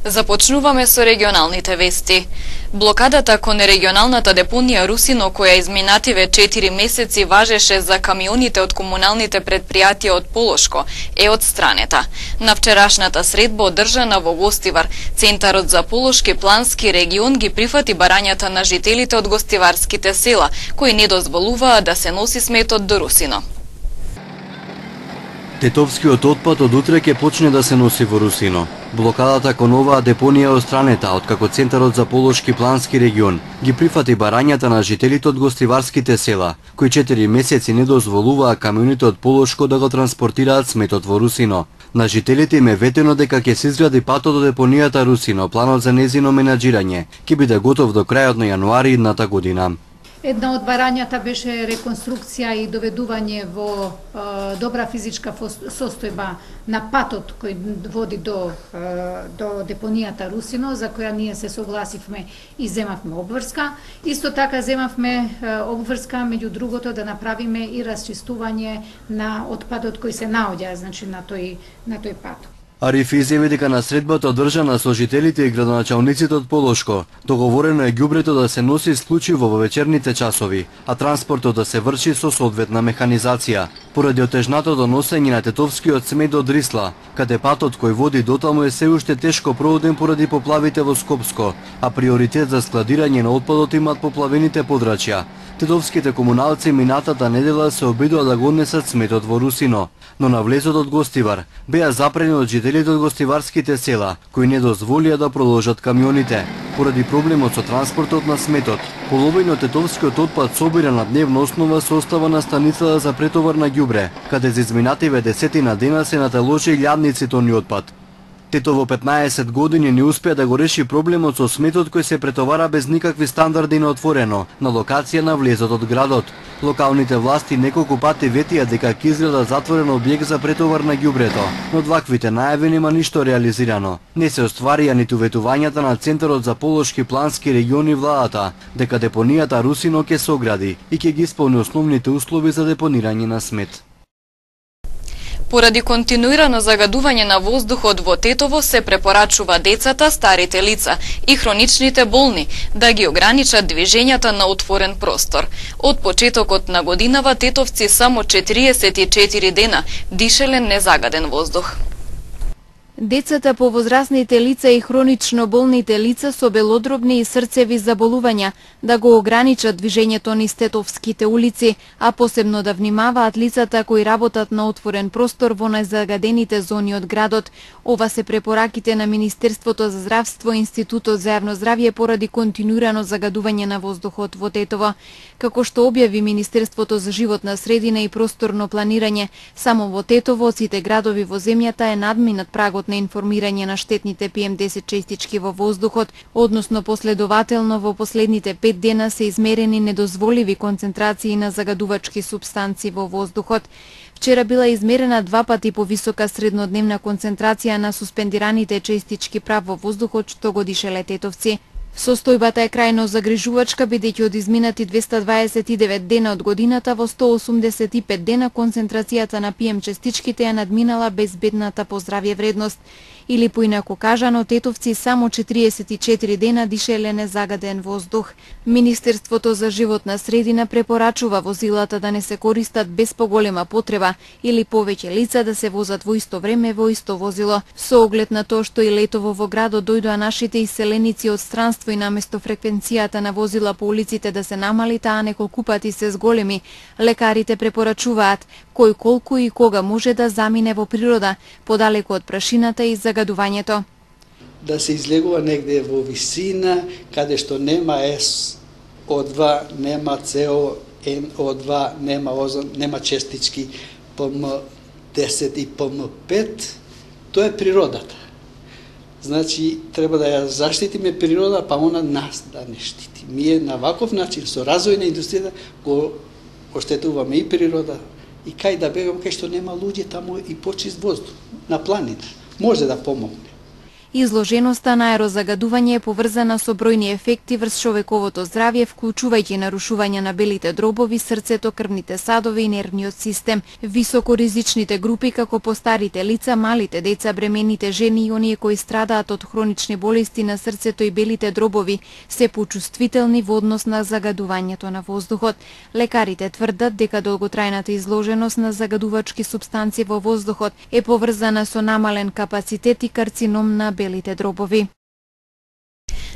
Започнуваме со регионалните вести. Блокадата кон регионалната депонија Русино, која изминативе 4 месеци важеше за камионите од комуналните предпријатија од Полошко, е одстранета. На вчерашната средба одржана во Гостивар, Центарот за Полошки плански регион ги прифати барањата на жителите од гостиварските села, кои не дозволуваа да се носи сметот до Русино. Тетовскиот отпад од утре ќе почне да се носи во Русино. Блокадата кон оваа депонија е остранета, откако Центарот за Полошки плански регион ги прифати барањата на жителите од гостиварските села, кои 4 месеци не дозволуваа камионите од Полошко да го транспортираат сметот во Русино. На жителите им е ветено дека ќе се изгради патот до депонијата Русино. Планот за незино менаџирање ќе биде готов до крајот на јануари идната година. Една од барањата беше реконструкција и доведување во добра физичка состојба на патот кој води до депонијата Русино, за која ние се согласивме и земавме обврска. Исто така земавме обврска, меѓу другото, да направиме и расчистување на отпадот кој се наоѓа, значи на тој пат. Ариф изјави дека на средбата одржана со жителите и градоначалниците од Полошко, договорено е ѓубрето да се носи исклучиво во вечерните часови, а транспортот да се врши со соодветна механизација. Поради отежнатото носење на тетовскиот смет до Дрисла, каде патот кој води дотаму е се уште тешко проводен поради поплавите во Скопско, а приоритет за складирање на отпадот имаат поплавените подрачја. Тетовските комуналци минатата недела се обидоа да го однесат сметот во Русино, но на влезот од Гостивар беа запрени од жителите од гостиварските села, кои не дозволија да продолжат камионите. Поради проблемот со транспортот на сметот, половина од тетовскиот отпад собира на дневна основа се остава на станицата за претовар на ѓубре, каде за изминативе 10 дена се наталожи илјадници тони отпад. Тетово 15 години не успеа да го реши проблемот со сметот кој се претовара без никакви стандарди на отворено, на локација на влезот од градот. Локалните власти неколку пати ветија дека ќе изграда затворен објект за претовар на ѓубрето, но од ваквите најави нема ништо реализирано. Не се остварија ниту ветувањата на Центарот за Полошки плански региони владата, дека депонијата Русино ќе се огради и ќе ги исполни основните услови за депонирање на смет. Поради континуирано загадување на воздухот во Тетово се препорачува децата, старите лица и хроничните болни да ги ограничат движењата на отворен простор. Од почетокот на годинава тетовци само 44 дена дишеле незагаден воздух. Децата, повозрасните лица и хронично болните лица со белодробни и срцеви заболувања да го ограничат движењето низ тетовските улици, а посебно да внимаваат лицата кои работат на отворен простор во најзагадените зони од градот. Ова се препораките на Министерството за здравство и Институтот за јавно здравје поради континуирано загадување на воздухот во Тетово. Како што објави Министерството за животна средина и просторно планирање, само во Тетово од сите градови во земјата е надминат прагот на информирање на штетните PM10 честички во воздухот, односно последователно во последните 5 дена се измерени недозволиви концентрации на загадувачки супстанци во воздухот. Вчера била измерена 2 пати повисока среднодневна концентрација на суспендираните честички прав во воздухот што го дишеле тетовци. Состојбата е крајно загрижувачка, бидејќи од изминати 229 дена од годината во 185 дена концентрацијата на PM честичките ја надминала безбедната по здравје вредност. Или поинаку кажано, тетовци само 44 дена дишеле незагаден воздух. Министерството за животна средина препорачува возилата да не се користат без поголема потреба или повеќе лица да се возат во исто време во исто возило. Со оглед на тоа што и летово во градот дојдоа нашите иселеници од странство и наместо фреквенцијата на возила по улиците да се намали, таа неколку пати се зголеми, лекарите препорачуваат кој колку и кога може да замине во природа, подалеку од прашината и загадувањето. Да се излегува негде во висина, каде што нема SO2, нема CO2, нема озон, нема честички PM10 и PM5, тоа е природата. Значи, треба да ја заштитиме природа, па она нас да не штити. Ние на ваков начин, со развој на индустријата, го оштетуваме и природа, и кај да бегам, кај што нема луѓе, таму и почист воздух, на планина. Може да помогне. Изложеноста на аерозагадување е поврзана со бројни ефекти врз човековото здравје, вклучувајќи нарушување на белите дробови, срцето, крвните садови и нервниот систем, високоризичните групи како постарите лица, малите деца, бремените жени и оние кои страдаат од хронични болести на срцето и белите дробови се почувствителни во однос на загадувањето на воздухот. Лекарите тврдат дека долготрајната изложеност на загадувачки супстанции во воздухот е поврзана со намален капацитет и карцином на белите дробови.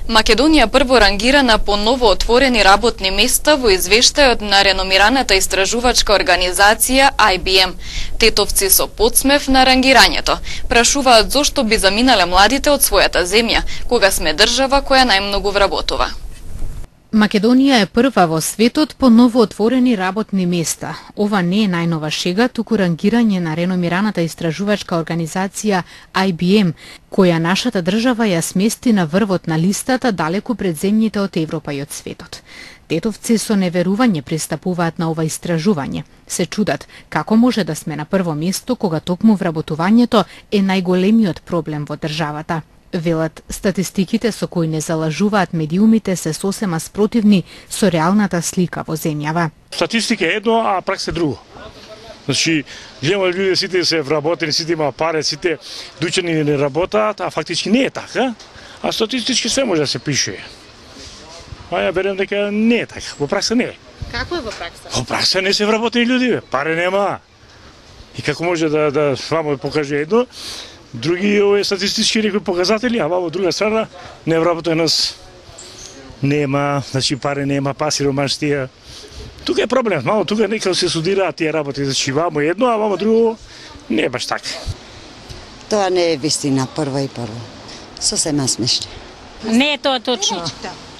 Македонија прво рангирана по ново отворени работни места во извештајот на реномираната истражувачка организација IBM. Тетовци со подсмев на рангирањето прашуваат зошто би заминале младите од својата земја, кога сме држава која најмногу вработува. Македонија е прва во светот по ново отворени работни места. Ова не е најнова шега, туку рангирање на реномираната истражувачка организација IBM, која нашата држава ја смести на врвот на листата далеку пред земјите од Европа и од светот. Тетовци со неверување пристапуваат на ова истражување. Се чудат како може да сме на прво место кога токму вработувањето е најголемиот проблем во државата. Велат, статистиките со кои не залажуваат медиумите се сосема спротивни со реалната слика во земјава. Статистика е едно, а пракса е друго. Значи, гледаме луѓе сите се вработени, сите има пари, сите дучени не работаат, а фактички не е така. А статистички се може да се пише. А ја берем дека не е така. Во пракса не е. Како е во пракса? Во пракса не се вработени луѓе, пари нема. И како може да вамо покаже едно, други статистички некои показатели, а во друга страна невработеност нема, значи пари нема, па сиромаштија. Тука е проблем, мало тука нека се судираат тие работи, значи вамо едно, а вамо друго не е баш така. Тоа не е вистина, прво и прво. Сосема смешно. Не е тоа точно.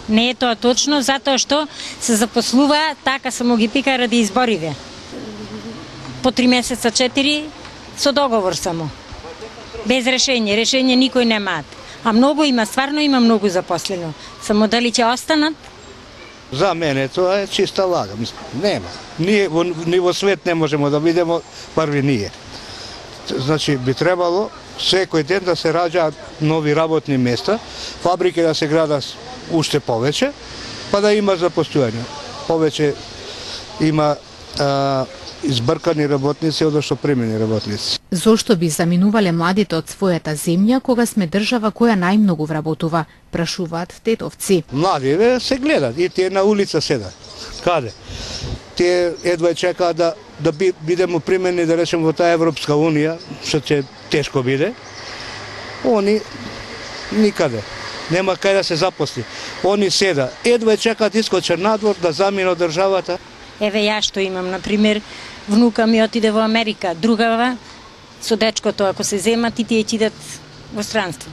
Не е тоа точно, затоа што се запослува така само ги пика ради избориве. По 3 месеца, 4, со договор само. Без решение, решение никој немаат. А многу има, стварно има многу запослено. Само дали ќе останат? За мене тоа е чиста лага. Нема. Ни во свет не можеме да видиме први ние. Значи би требало секој ден да се раѓаат нови работни места, фабрики да се градат уште повеќе, па да има запостојање. Повеќе има избркани работници одошто примени работници. Зошто би заминувале младите од својата земја кога сме држава која најмногу вработува, прашуваат тетовци. Младите се гледат и тие на улица седат. Каде? Тие едва чекаат да бидеме примени, да речем, во таа Европска унија, што ќе тешко биде. Они никаде. Нема кај да се запосли. Они седа, едва чекаат искочат надвор да заминат државата. Еве ја што имам, например, внука ми отиде во Америка, другава со дечкото, ако се земат и тие идат во странство.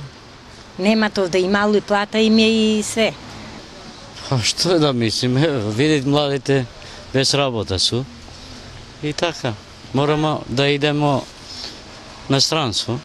Нема тоа да и мало и плата им е и све. Што е да мислиме, видит младите без работа су и така. Морамо да идемо на странство.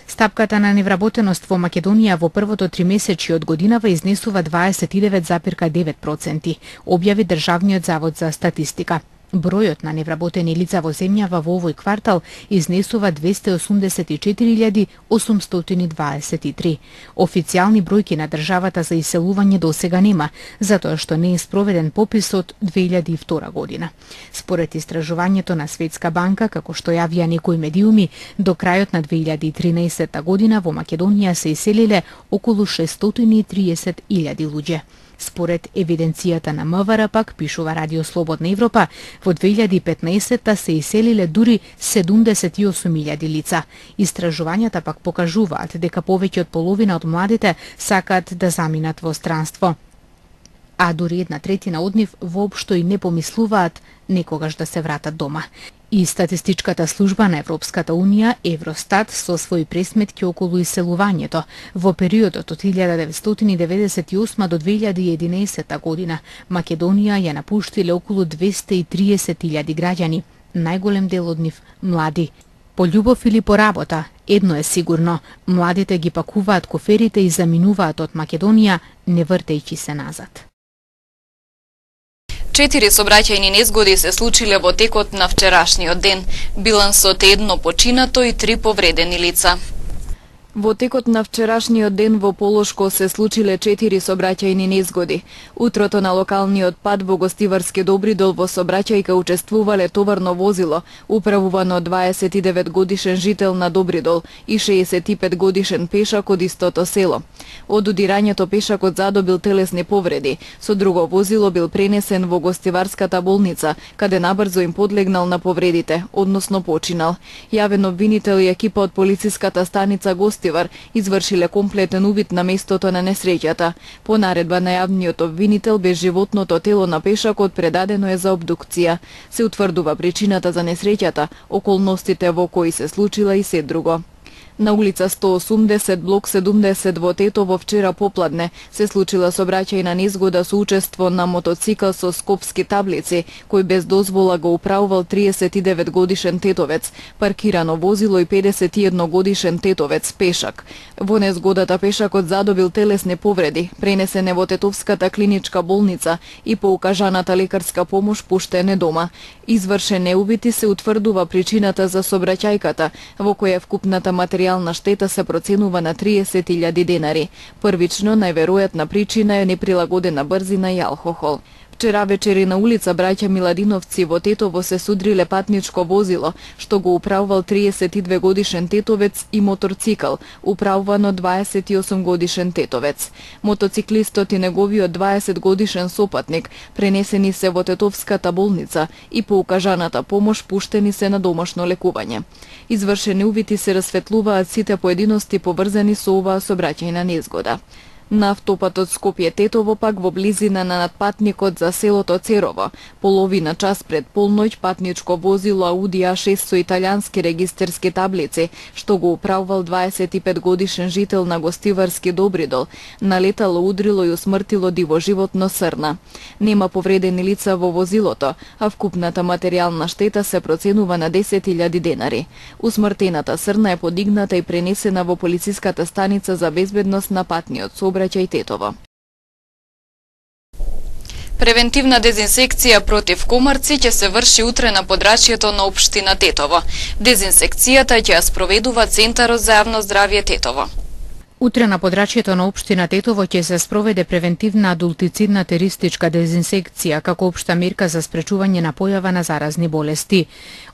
Стапката на невработеност во Македонија во првото тримесечје од годинава изнесува 29,9%, објави Државниот завод за статистика. Бројот на невработени лица во земјава во овој квартал изнесува 284.823. Официјални бројки на државата за иселување до сега нема, затоа што не е спроведен попис од 2002 година. Според истражувањето на Светска банка, како што јавија некои медиуми, до крајот на 2013 година во Македонија се иселиле околу 630.000 луѓе. Според евиденцијата на МВР, пак пишува Радио Слободна Европа, во 2015 се иселиле дури 78.000 лица. Истражувањата пак покажуваат дека повеќе од половина од младите сакаат да заминат во странство. А дури 1/3 од нив воопшто и не помислуваат некогаш да се вратат дома. И статистичката служба на Европската Унија, Евростат, со своји пресметки околу иселувањето во периодот од 1998 до 2011 година, Македонија ја напуштиле околу 230.000 граѓани, најголем дел од нив млади. По љубов или по работа, едно е сигурно, младите ги пакуваат коферите и заминуваат од Македонија, не вртејќи се назад. 4 сообраќајни незгоди се случиле во текот на вчерашниот ден. Билансот е 1 починато и 3 повредени лица. Во текот на вчерашниот ден во Полошко се случиле 4 сообраќајни незгоди. Утрото на локалниот пат во Гостиварски Добридол во сообраќајка учествувале товарно возило, управувано од 29 годишен жител на Добридол и 65 годишен пешак од истото село. Од удирањето пешакот задобил телесни повреди, со друго возило бил пренесен во Гостиварската болница, каде набрзо им подлегнал на повредите, односно починал. Јавен обвинител и екипа од полициската станица Гостивар извршиле комплетен увид на местото на несреќата. По наредба на јавниот обвинител, безживотното тело на пешакот предадено е за обдукција. Се утврдува причината за несреќата, околностите во кои се случила и се друго. На улица 180, блок 70 во Тетово вчера попладне се случила сообраќајна незгода со учество на мотоцикл со скопски таблици, кој без дозвола го управувал 39 годишен тетовец, паркирано возило и 51 годишен тетовец пешак. Во незгодата пешакот задобил телесни повреди, пренесен е во Тетовската клиничка болница и по укажаната лекарска помош пуштен е дома. Извршен е увид и се утврдува причината за сообраќајката, во која вкупната материјална штета се проценува на 30.000 денари. Првично, најверојатна причина е неприлагодена брзина и алкохол. Вчера вечери на улица Браќа Миладиновци во Тетово се судриле патничко возило, што го управувал 32 годишен тетовец и моторцикл, управувано 28 годишен тетовец. Мотоциклистот и неговиот 20 годишен сопатник пренесени се во Тетовската болница и по укажаната помош пуштени се на домашно лекување. Извршени увити се расветлуваат сите поединости поврзани со оваа сообраќајна незгода. На автопатот Скопје-Тетово пак во близина на надпатникот за селото Церово, половина час пред полноќ патничко возило Ауди А6 со италијански регистерски таблици, што го управувал 25 годишен жител на Гостиварски Добридол, налетало, удрило и усмртило диво животно срна. Нема повредени лица во возилото, а вкупната материјална штета се проценува на 10.000 денари. Усмртената срна е подигната и пренесена во полициската станица за безбедност на патниот сообраќај Тетово. Превентивна дезинсекција против комарци ќе се врши утре на подрачјето на општина Тетово. Дезинсекцијата ќе ја спроведува Центарот за јавно здравје Тетово. Утре на подрачјето на општина Тетово ќе се спроведе превентивна адултицидна теристичка дезинсекција како општа мерка за спречување на појава на заразни болести.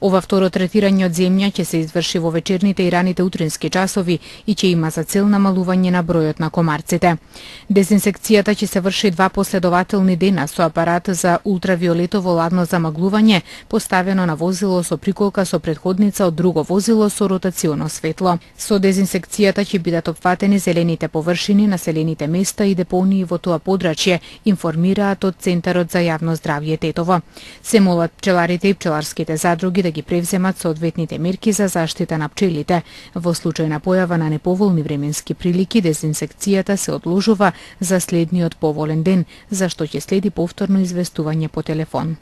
Ова второ третирање од земја ќе се изврши во вечерните и раните утрински часови и ќе има за цел намалување на бројот на комарците. Дезинсекцијата ќе се врши 2 последователни дена со апарат за ултравиолетово ладно замаглување поставено на возило со приколка со претходница од друго возило со ротационо светло. Со дезинсекцијата ќе бидат опфатени зелените површини, населените места и депонии во тоа подрачје, информираат од Центарот за јавно здравје Тетово. Се молат пчеларите и пчеларските задруги да ги превземат соодветните мерки за заштита на пчелите. Во случај на појава на неповолни временски прилики, дезинсекцијата се одложува за следниот поволен ден, за што ќе следи повторно известување по телефон.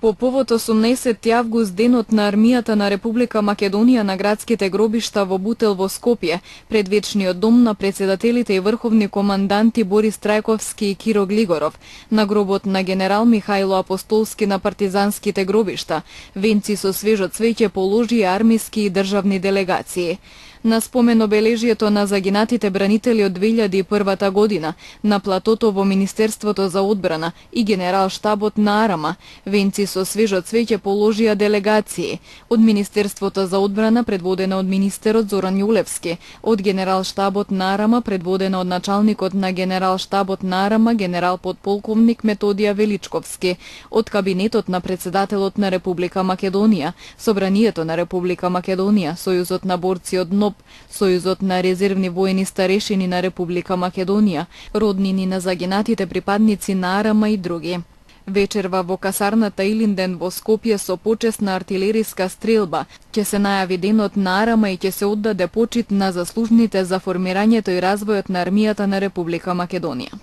По повод 18 август, денот на армијата на Република Македонија на градските гробишта во Бутел во Скопје, пред вечниот дом на председателите и врховни команданти Борис Трајковски и Киро Глигоров, на гробот на генерал Михајло Апостолски на партизанските гробишта, венци со свежо цвеќе положи армиски и државни делегации. На спомен обележието на загинатите бранители од 2001 година на платото во Министерството за одбрана и генерал штабот на Арама, венци со свежо цвеќе положија делегации од Министерството за одбрана предводена од министерот Зоран Јулевски, од генерал штабот на Арама предводена од началникот на генерал штабот на Арама генерал подполковник Методија Величковски, од кабинетот на председателот на Република Македонија, Собранието на Република Македонија, Сојузот на борци од НОБ, Сојузот на резервни воени старешини на Република Македонија, роднини на загинатите припадници на Арама и други. Вечерва во касарната Илинден во Скопје со почесна артилериска стрелба ќе се најави денот на Арама и ќе се оддаде почит на заслужните за формирањето и развојот на армијата на Република Македонија.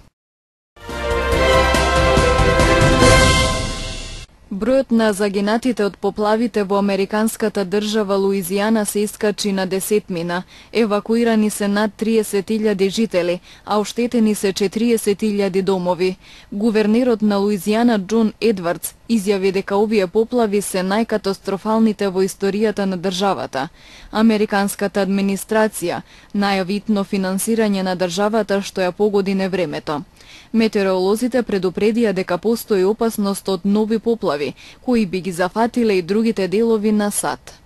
Бројот на загинатите од поплавите во американската држава Луизијана се искачи на десетмина. Евакуирани се над 30.000 жители, а оштетени се 40.000 домови. Гувернерот на Луизијана Џон Едвардс изјави дека овие поплави се најкатастрофалните во историјата на државата. Американската администрација најави итно финансирање на државата што ја погоди невремето. Метеоролозите предупредија дека постои опасност од нови поплави, кои би ги зафатиле и другите делови на САД.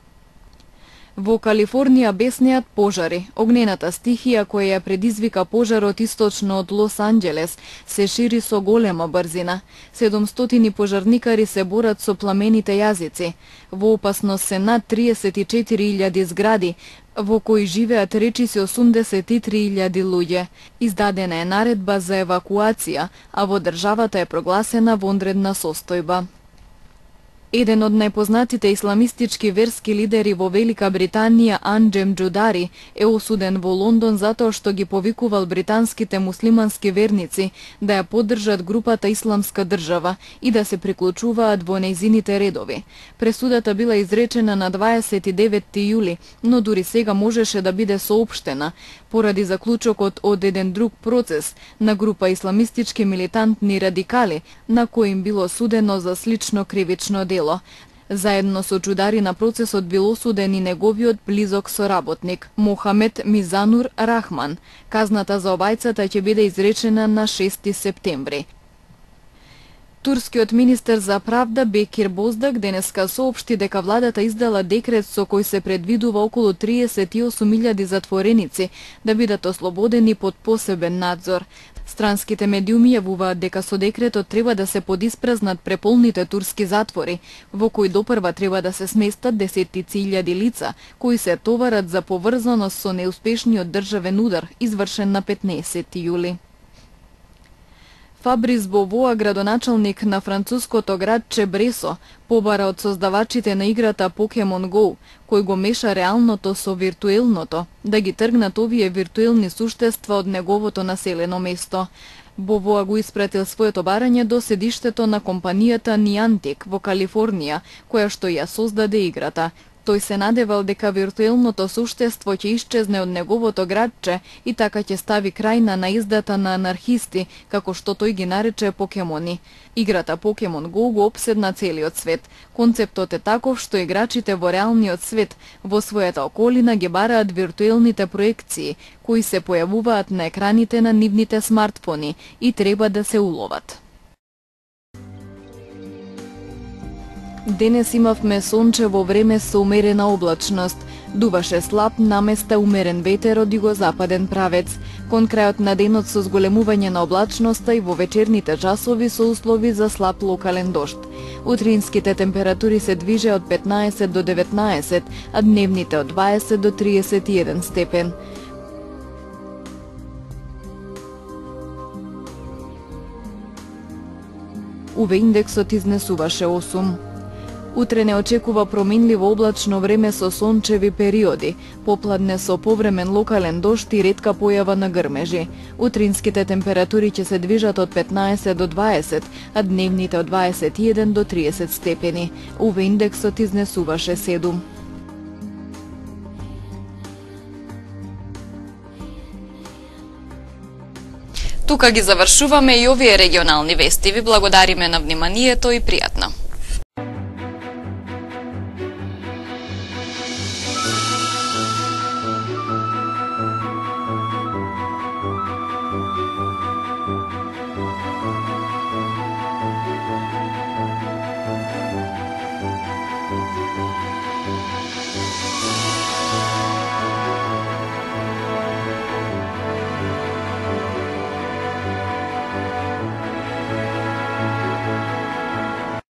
Во Калифорнија беснеат пожари. Огнената стихија која ја предизвика пожарот источно од Лос Анџелес се шири со голема брзина. 700 пожарникари се борат со пламените јазици. Во опасност се над 34.000 згради, во кои живеат речиси 83.000 луѓе. Издадена е наредба за евакуација, а во државата е прогласена вонредна состојба. Еден од најпознатите исламистички верски лидери во Велика Британија, Анџем Џудари, е осуден во Лондон затоа што ги повикувал британските муслимански верници да ја поддржат групата Исламска држава и да се приклучуваат во нејзините редови. Пресудата била изречена на 29 јули, но дури сега можеше да биде соопштена, поради заклучокот од еден друг процес на група исламистички милитантни радикали, на кој им било судено за слично кривично дело. Заедно со Џудари на процесот бил осуден и неговиот близок соработник, Мохамед Мизанур Рахман. Казната за обајцата ќе биде изречена на 6 септември. Турскиот министер за правда Бекир Боздак денеска соопшти дека владата издала декрет со кој се предвидува околу 38.000 затвореници да бидат ослободени под посебен надзор. Странските медиуми јавуваат дека со декретот треба да се подиспразнат преполните турски затвори, во кои допрва треба да се сместат десеттици илјади лица, кои се товарат за поврзаност со неуспешниот државен удар, извршен на 15 јули. Фабрис Бовоа, градоначалник на француското градче Бресо, побара од создавачите на играта Pokemon Go, кој го меша реалното со виртуелното, да ги тргнат овие виртуелни суштества од неговото населено место. Бовоа го испратил своето барање до седиштето на компанијата Niantic во Калифорнија, која што ја создаде играта. Тој се надевал дека виртуелното суштество ќе исчезне од неговото градче и така ќе стави крај на наездата на анархисти, како што тој ги нарече покемони. Играта Pokemon Go го опседна целиот свет. Концептот е таков што играчите во реалниот свет во својата околина ги бараат виртуелните проекции, кои се појавуваат на екраните на нивните смартфони и треба да се уловат. Денес имавме сончево време со умерена облачност. Дуваше слаб, наместа умерен ветер од југозападен правец. Кон крајот на денот со зголемување на облачноста и во вечерните часови со услови за слаб локален дожд. Утринските температури се движе од 15 до 19, а дневните од 20 до 31 степен. УВ индексот изнесуваше 8. Утре не очекува променливо облачно време со сончеви периоди, попладне со повремен локален дожд и ретка појава на грмежи. Утринските температури ќе се движат од 15 до 20, а дневните од 21 до 30 степени. УВ индексот изнесуваше 7. Тука ги завршуваме и овие регионални вести. Ви благодариме на вниманието и пријатно.